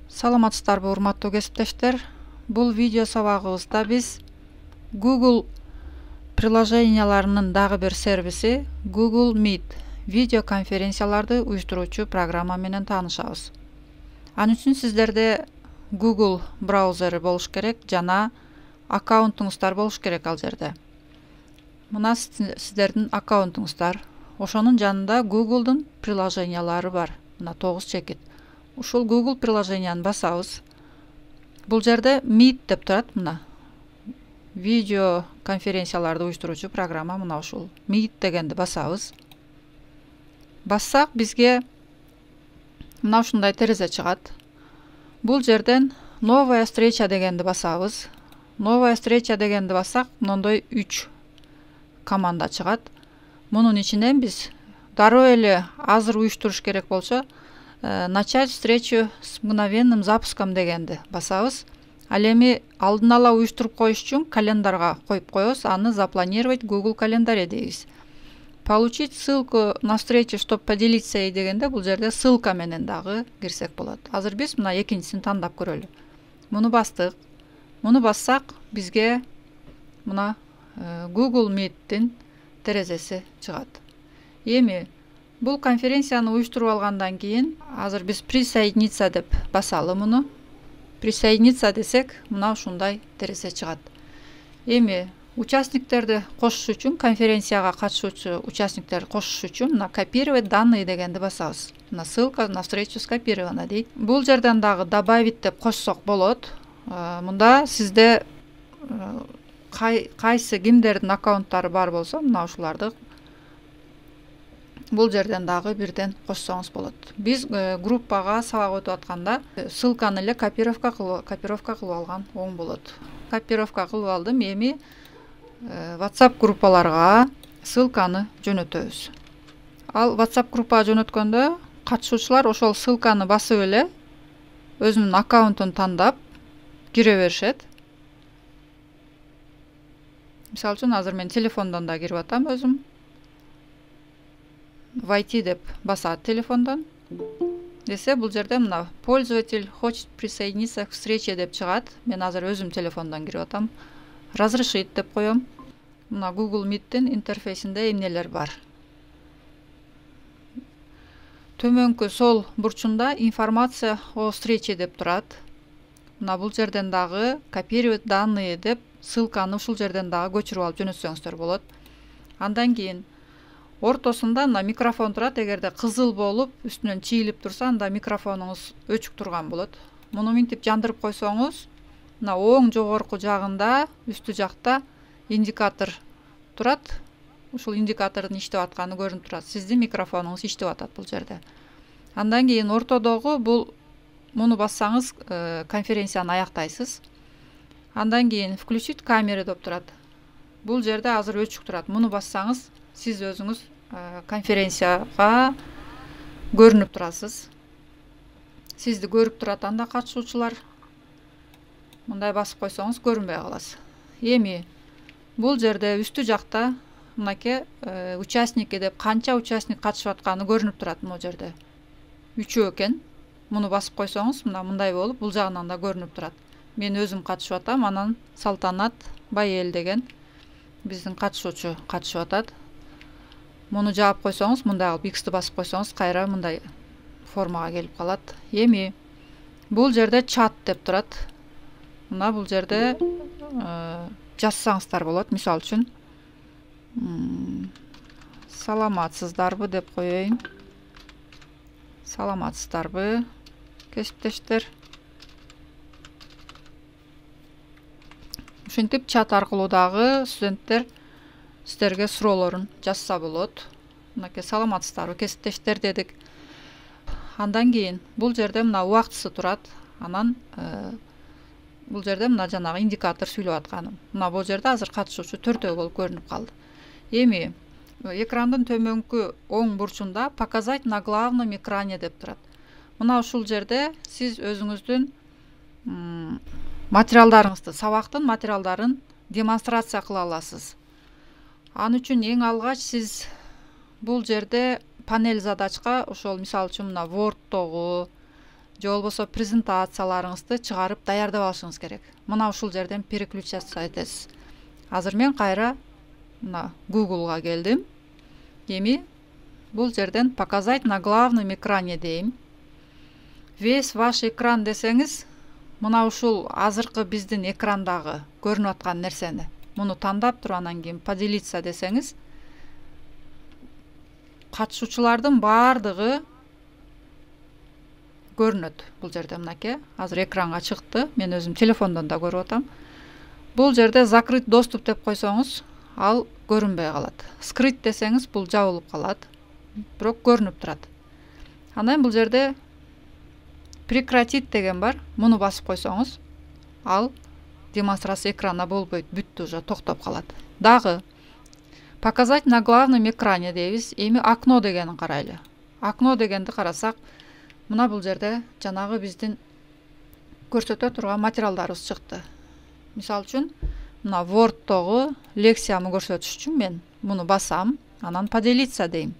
Саламатсыздарбы, урматтуу кесиптештер. Бул видео сабагыбызда биз Google приложенияларынын дагы бир сервиси Google Meet видео конференцияларды уюштуруучу программа менен таанышабыз. Ал үчүн сиздерде Google браузери болуш керек жана аккаунтуңуздар болуш керек ал жерде. Мына сиздердин аккаунтуңуздар. Ошонун жанында Google'дун приложениялары бар. Мына 9 чекит. Ушул Google приложенияны басабыз. Бул жерде Meet деп турат, мына. Видео конференцияларды уюштуруучу программа мына ушул. Meet дегенди басабыз. Бассак бизге мына ушундай терезе чыгат. Бул жерден новая встреча дегенди басабыз. Новая встреча дегенди бассак, мындай 3 команда чыгат. Мунун ичинен биз дароо эле азыр уюштуруш керек болсо, начать встречу с мгновенным запуском дегенди басабыз. Ал эми алдын ала уюштуруп коюш үчүн календарга коюп коебуз, аны запланировать Google календаре дейбиз. Получить ссылку на встречу, чтобы поделиться дегенде бул жерде ссылка менен дагы кирсек болот. Азыр биз мына экинчисин тандап көрөлү. Муну бастык. Муну бассак бизге мына Google Meet'тин терезеси чыгат. Эми бул конференцияны уюштуруп алгандан кийин азыр биз присоединиться деп басалы муну. Присоединиться десек, мына ушундай терезе чыгат. Эми участниктерди кошуш үчүн, конференцияга катышуучу участниктерди кошуш үчүн мына копировать данные дегенди басабыз. Мына ссылка на встречу скопирована дейт. Бул жерден дагы добавить деп кошсок болот. Мында сизде кайсы кимдердин аккаунттары бар болсо, мына ушуларды бул жерден дагы бирден кошсоңуз болот. Биз группага сабак өтүп атканда ссылканы эле копировка кылып алган оң болот. Копировка кылып алдым. Эми WhatsApp группаларга ссылканы жөнөтөбүз. Ал WhatsApp группага жөнөткөндө катышуучулар ошол ссылканы басып эле өзүнүн аккаунтун тандап кире беришет. Мисалы үчүн азыр мен телефондон да кирип атам өзүм. Войти деп басат телефондон. Десе бул жерде мына пользователь хочет присоединиться к встрече деп чыгат. Мен азыр өзүм телефондон кирип атам. Разрешить деп коем. Мына Google Meet'тин интерфейсинде эмнелер бар. Төмөнкү сол бурчунда информация о встрече деп турат. Мына бул жерден дагы копировать данные деп ссылканы ушул жерден дагы көчүрүп алып жөнөтсөңүздөр болот. Андан кийин ортосунда мына микрофон турат. Эгерде кызыл болуп үстүнөн чийилип турса, анда микрофонуңуз өчүк турган болот. Муну минтип жандырып койсоңуз, мына оң жогорку жагында үстү жакта индикатор турат. Ушул индикатордун иштеп атканы көрүнүп турат. Сиздин микрофонуңуз иштеп атат бул жерде. Андан кийин ортодогу муну бассаңыз конференцияны аяктайсыз. Андан кийин включить камеру деп турат. Бул жерде азыр өчүк турат. Муну бассаңыз сиз өзүңүз конференцияга көрүнүп турасыз. Сизди көрүп турат анда катышуучулар. Мындай басып койсоңуз көрүнбөй каласыз. Эми бул жерде үстү жакта мынакей участники деп канча участник катышып атканы көрүнүп турат бул жерде. 3 экен. Муну басып койсоңуз мындай болуп бул жагынан да көрүнүп турат. Мен өзүм катышып атам, анан Салтанат Байел деген биздин катышуучу катышып атат. Муну жаап койсоңуз, мындай кылып X'ти басып койсоңуз, кайра мындай формага келип калат. Эми бул жерде чат деп турат. Мына бул жерде жазсаңыздар болот. Мисалы үчүн саламатсыздарбы деп коеюн. Саламатсыздарбы, кесиптештер. Ушинтип чат аркылуу дагы студенттер сиздерге суроолорун жазса болот. Мынакей саламатсыздарбы, кесиптештер дедик. Андан кийин бул жерде мына убактысы турат. Анан бул жерде мына жанагы индикатор сүйлөп атканым. Мына бул жерде азыр катышуучу 4 болуп көрүнүп калды. Эми экрандын төмөнкү оң бурчунда показать на главном экране деп турат. Мына ушул жерде сиз өзүңүздүн материалдарыңызды, сабактын материалдарын демонстрация кыла аласыз. Ан үчүн эң алгач сиз бул жерде панель задачка ошол мисалы үчүн мына Word'догу же болбосо презентацияларыңызды чыгарып даярдап алышыңыз керек. Мына ушул жерден переключаться этесиз. Азыр мен кайра мына Google'га келдим. Эми бул жерден показать на главном экране дейм. Весь ваш экран десеңиз, мына ушул азыркы биздин экрандагы көрүнүп аткан нерсени муну тандап туруп анан кийин поделиться десеңиз, катышуучулардын баардыгы көрүнөт бул жерде. Мынакей азыр экранга чыкты. Мен өзүм телефондон да көрүп атам. Бул жерде закрыть доступ деп койсоңуз, ал көрүнбөй калат. Скрыть десеңиз, бул жабылып калат. Бирок көрүнүп турат. Анан бул жерде прекратить деген бар. Муну басып койсоңуз, ал демонстрация экрана болбойт, бүттү, уже токтоп калат. Дагы показать на главном экране дейбиз. Эми окно дегенин карайлы. Окно дегенди карасак, мына бул жерде жанагы биздин көрсөтө турган материалдарыбыз чыкты. Мисалы үчүн, мына Word'тогу лекциямы көрсөтүш үчүн мен муну басам, анан поделиться дейм.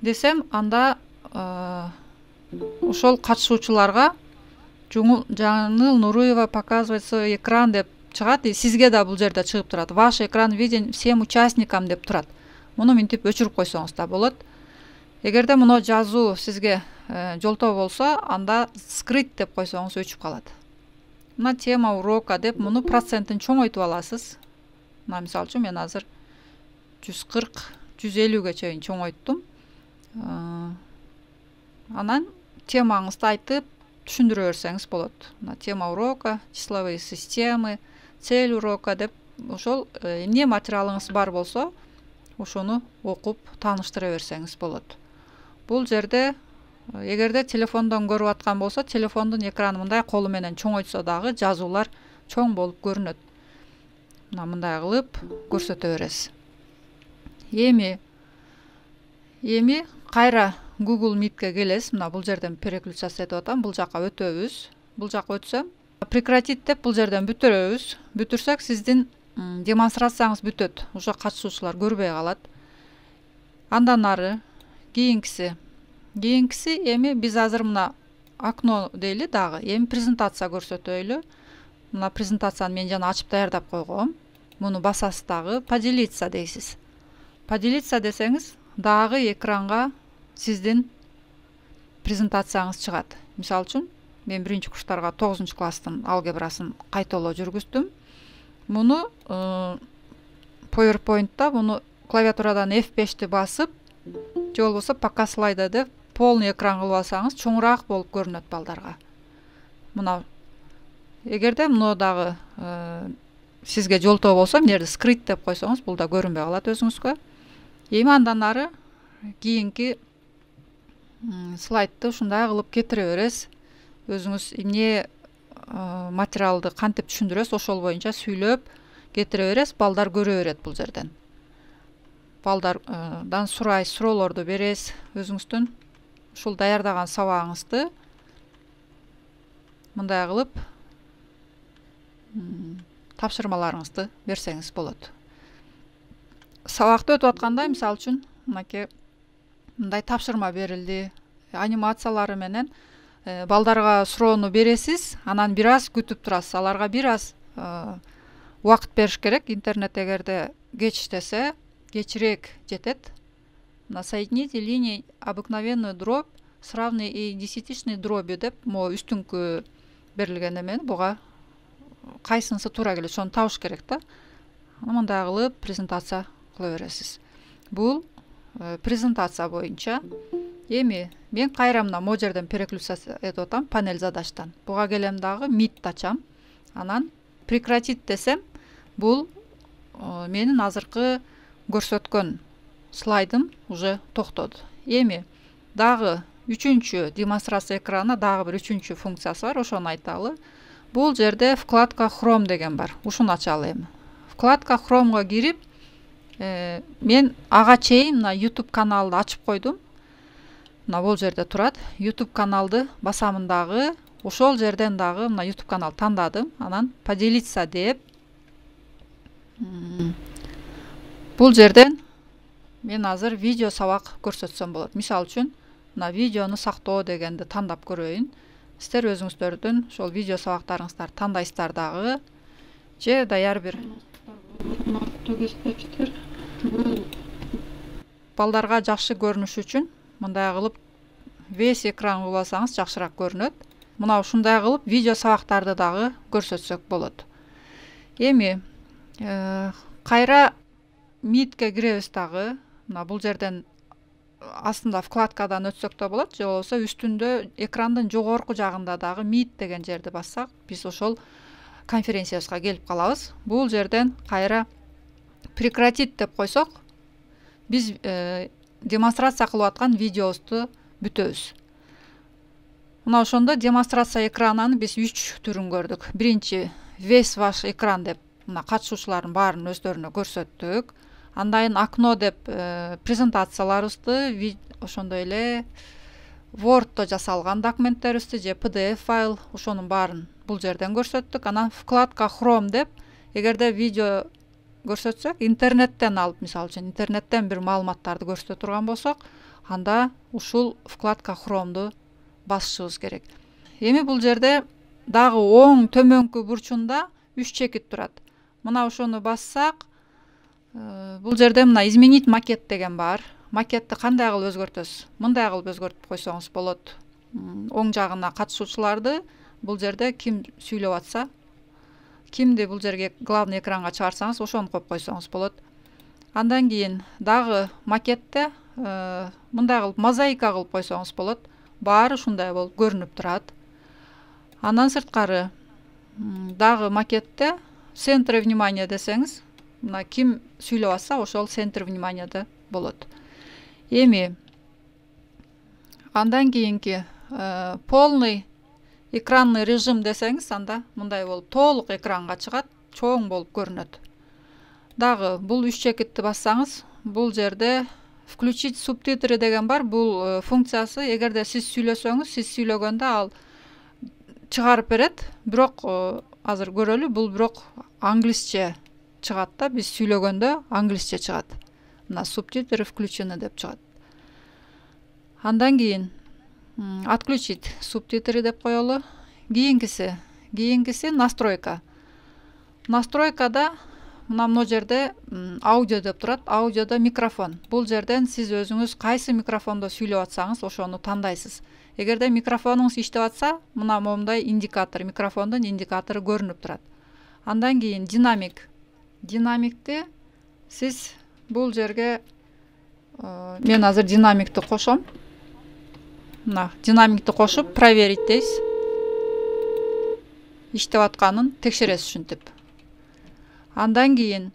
Десем, анда ошол катышуучуларга Жаңыл Нуруева показывает свой экран деп чыгат, и сизге да бул жерде чыгып турат. Ваш экран виден всем участникам деп турат. Муну минтип өчүрүп койсоңуз да болот. Эгерде муну жазуу сизге жолтоо болсо, анда скрыть деп койсоңуз өчүп калат. Мына тема урока деп муну процентин чоңойтуп аласыз. Мына мисалы үчүн мен азыр 140-150ге чейин чоңойттум. Анан темаңызды айтып түшүндүрө берсеңиз болот. Мына тема урока, числовые системы, цель урока деп ошол эмне материалыңыз бар болсо, ошону окуп тааныштыра берсеңиз болот. Бул жерде эгерде телефондон көрүп аткан болсо, телефондун экраны мындай колу менен чоңойтсо дагы жазуулар чоң болуп көрүнөт. Мына мындай кылып көрсөтө бересиз. Эми кайра Google Meet'ке келесиз. Мына бул жерден переключаться этип атам. Бул жакка өтөбүз. Бул жакка өтсөм, прекратить деп бул жерден бүтүрөбүз. Бүтүрсөк, сиздин демонстрацияңыз бүтөт. Уже катышуучулар көрбөй калат. Андан ары кийинкиси эми биз азыр мына окно дейли дагы. Эми презентация көрсөтөйлү. Мына презентацияны мен жана ачып даярдап койгом. Муну басасыз дагы, поделиться дейсиз. Поделиться десеңиз, дагы экранга сиздин презентацияңыз чыгат. Мисалы үчүн, мен 1-курстарга 9-класстын алгебрасын кайталоо жүргүздүм. Муну PowerPoint'та муну клавиатурадан F5'ти басып, же болбосо пока слайда деп полный экран кылып алсаңыз, чоңураак болуп көрүнөт балдарга. Мына эгерде муну дагы сизге жолтоо болсо, мына жерде скрыть деп койсоңуз, бул да көрүнбөй калат өзүңүзгө. Эми андан ары кийинки слайдты ушундай кылып кетире бересиз. Өзүңүз эмне материалды кантип түшүндүрөсүз, ошол боюнча сүйлөп кетире бересиз. Балдар көрө берет бул жерден. Балдардан суроолорду бересиз. Өзүңүздүн ушул даярдаган сабагыңызды мындай кылып тапшырмаларыңызды берсеңиз болот. Сабакты өтүп атканда, мисалы үчүн, мынакей мындай тапшырма берилди. Анимациялары менен балдарга суроону бересиз, анан бир аз күтүп турасыз. Аларга бир аз убакыт бериш керек. Интернет эгерде кечиштесе, кечирээк жетет. Соедините линии обыкновенную дробь с равной и десятичной дробью деп, могу үстүңкү берилген эмени буга кайсынысы туура келет, ошону табыш керек да. Мындай кылып презентация кыла бересиз. Бул презентация боюнча. Эми мен кайра мына могу жерден переключация этип атам, панель задаштан. Буга келем дагы, Meet ачам. Анан прекратить десем, бул менин азыркы көрсөткөн слайдым уже токтоду. Эми дагы үчүнчү демонстрация экранына дагы бир үчүнчү функциясы бар, ошону айталы. Бул жерде вкладка Chrome деген бар. Ушуну ачалы эми. Вкладка Chrome'га кирип, мен ага чейин мына YouTube каналды ачып койдум. Мына бул жерде турат. YouTube каналды басамын дагы. Ошол жерден дагы мына YouTube канал тандадым. Анан поделиться деп. Бул жерден мен азыр видео сабак көрсөтсөм болот. Мисалы үчүн, мына видеону сактоо дегенди тандап көрөйүн. сиздер өзүңүздөрдүн ошол видео сабактарыңыздарды тандайсыздар дагы, же даяр бир балдарга жакшы көрүнүш үчүн мындай кылып весь экран кылбасаңыз жакшыраак көрүнөт. Мына ушундай кылып видео сабактарды дагы көрсөтсөк болот. Эми кайра Meet'ке киребиз дагы. Мына бул жерден астында вкладкадан өтсөк да болот, же болбосо үстүндө экрандын жогорку жагында дагы Meet деген жерди бассак, биз ошол конференциябызга келип калабыз. Бул жерден кайра прекратить деп койсок, биз демонстрация кылып аткан видеобузду бүтөбүз. Мына ошондо демонстрация экранын биз 3 түрүн көрдүк. Биринчи весь ваш экран деп мына катышуучулардын баарын өздөрүнө көрсөттүк. Андан кийин окно деп презентацияларыбызды, ошондой эле Word'то жасалган документтерибизди же PDF файл, ошонун баарын бул жерден көрсөттүк. Анан вкладка Chrome деп, эгерде видео көрсөтсөк, интернеттен алып, мисалы үчүн интернеттен бир маалыматтарды көрсөтө турган болсок, анда ушул вкладка Chrome'ду басышыбыз керек. Эми бул жерде дагы оң төмөнкү бурчунда 3 чекит турат. Мына ошону бассак, бул жерде мына изменить макет деген бар. Макетти кандай кылып өзгөртөсүз? Мындай кылып өзгөртүп койсоңуз болот. Оң жагына катышуучуларды бул жерде ким сүйлөп атса, кимди бул жерге главный экранга чыгарсаңыз, ошону коюп койсоңуз болот. Андан кийин дагы макетте мындай кылып мозаика кылып койсоңуз болот. Баары ушундай болуп көрүнүп турат. Андан сырткары дагы макетте центр внимания десеңиз, мына ким сүйлөп атса, ошол центр вниманияда болот. Эми андан кийинки полный экранный режим десеңиз, анда мындай болуп толук экранга чыгат, чоң болуп көрүнөт. Дагы бул 3 чекитти бассаңыз, бул жерде включить субтитры деген бар. Бул функциясы, эгерде сиз сүйлөсөңүз, сиз сүйлөгөндө ал чыгарып берет. Бирок азыр көрөлү, бул бирок англисче чыгат да, биз сүйлөгөндө англисче чыгат. Мына субтитры включены деп чыгат. Андан кийин отключить субтитры деп коелу. Кийинкиси настройка. Настройкада мына моу жерде аудио деп турат. Аудиодо микрофон. Бул жерден сиз өзүңүз кайсы микрофондо сүйлөп атсаңыз, ошону тандайсыз. Эгерде микрофонуңуз иштеп атса, мына моундай индикатор, микрофондун индикатору көрүнүп турат. Андан кийин динамик. Динамикти сиз бул жерге мен азыр динамикти кошом. Мына динамикти кошуп проверить дейсиз. Иштеп атканын текшересиз ушинтип. Андан кийин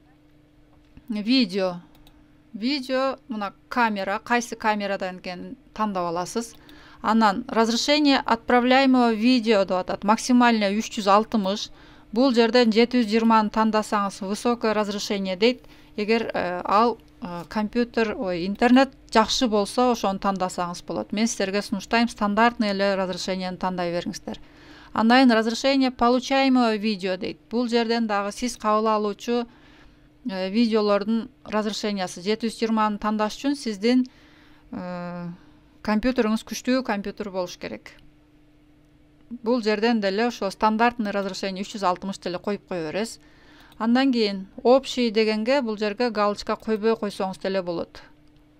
видео. Видео мына камера, кайсы камерадан экенин тандап аласыз. Анан разрешение отправляемого видео деп атат. Максимальное 360. Бул жерден 720-ны тандасаңыз высокое разрешение дейт. Эгер ал компьютер, интернет жакшы болсо, ошону тандасаңыз болот. Мен сиздерге сунуштайм, стандартный эле разрешениени тандай бериңиздер. Андан кийин разрешение получаемого видео дейт. Бул жерден дагы сиз кабыл алуучу видеолордун разрешениясы 720-ны тандаш үчүн сиздин компьютериңиз күчтүү компьютер болуш керек. Бул жерден деле ошо стандартный разрешение 360 деле коюп кое бересиз. Андан кийин общий дегенге бул жерге галочка койбой койсоңуз деле болот.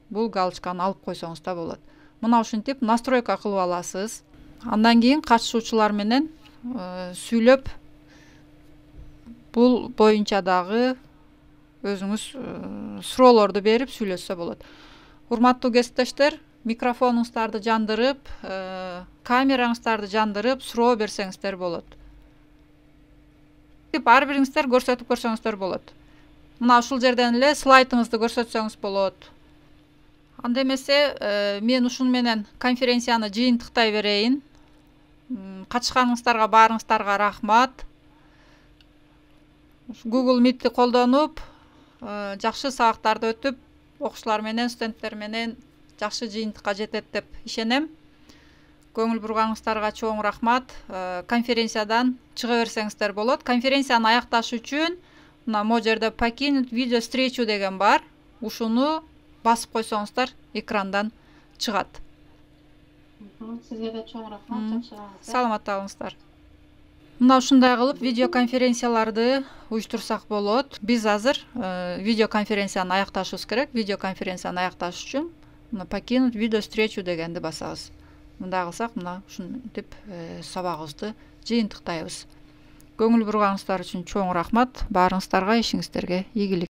Бул галочканы алып койсоңуз да болот. Мына ушинтип настройка кылып аласыз. Андан кийин катышуучулар менен сүйлөп бул боюнча дагы өзүңүз суроолорду берип сүйлөшсө болот. Урматтуу кесиптештер, микрофонуңуздарды жандырып, камераңыздарды жандырып суроо берсеңиздер болот. Ар бириңиздер көрсөтүп көрсөңүздөр болот. Мына ушул жерден эле слайдыңызды көрсөтсөңүз болот. Анда эмесе мен ушун менен конференцияны жыйынтыктай берейин. Катышканыңыздарга баарыңыздарга рахмат. Google Meet'ти колдонуп, жакшы сабактарды өтүп, окуучулар менен, студенттер менен жакшы жыйынтыкка жетет деп ишенем. Көңүл бурганыңыздарга чоң рахмат. Конференциядан чыга берсеңиздер болот. Конференцияны аякташ үчүн мына могу жерде покинуть видео встречу деген бар. Ушуну басып койсоңуздар экрандан чыгат. Сизге да чоң рахмат, жакшы калыңыздар. Саламатта болуңуздар. Мына ушундай кылып видеоконференцияларды уюштурсак болот. Биз азыр видеоконференцияны аякташыбыз керек. Видеоконференцияны аякташ үчүн мына покинуть видеовстречу дегенди басабыз. Мындай кылсак, мына ушинтип сабагыбызды жыйынтыктайбыз. Көңүл бурганыңыздар үчүн чоң рахмат. Баарыңыздарга ишиңиздерге ийгилик.